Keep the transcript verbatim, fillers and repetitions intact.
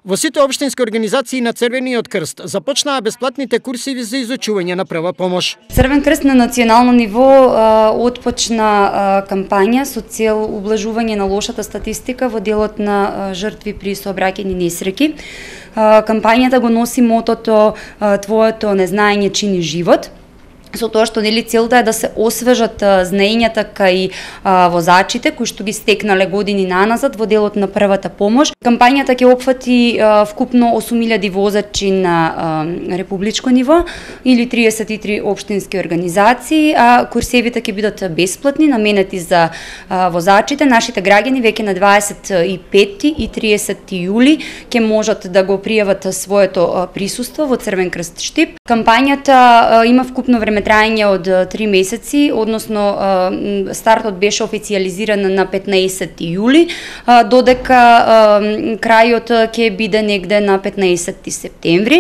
Во сите општински организации на Црвениот крст започнаа бесплатните курсиви за изучување на прва помош. Црвен крст на национално ниво а, отпочна а, кампања со цел ублажување на лошата статистика во делот на а, жртви при сообраќајни несреќи. А, кампањата го носи мотото а, "Твоето незнаење чини живот", со тоа што нели целта е да се освежат знаењата кај а, возачите кои што ги стекнале години наназад во делот на првата помош. Кампањата ќе опфати а, вкупно осум илјади возачи на а, републичко ниво или триесет и три општински организации, а курсевите ќе бидат бесплатни, наменети за а, возачите. Нашите граѓани веќе на дваесет и пети и тридесети јули ќе можат да го пријават своето а, присуство во Црвен крст Штип. Кампањата а, има вкупно време трајање од три месеци, односно стартот беше официјализиран на петнаесети јули, додека крајот ќе биде негде на петнаесети септември.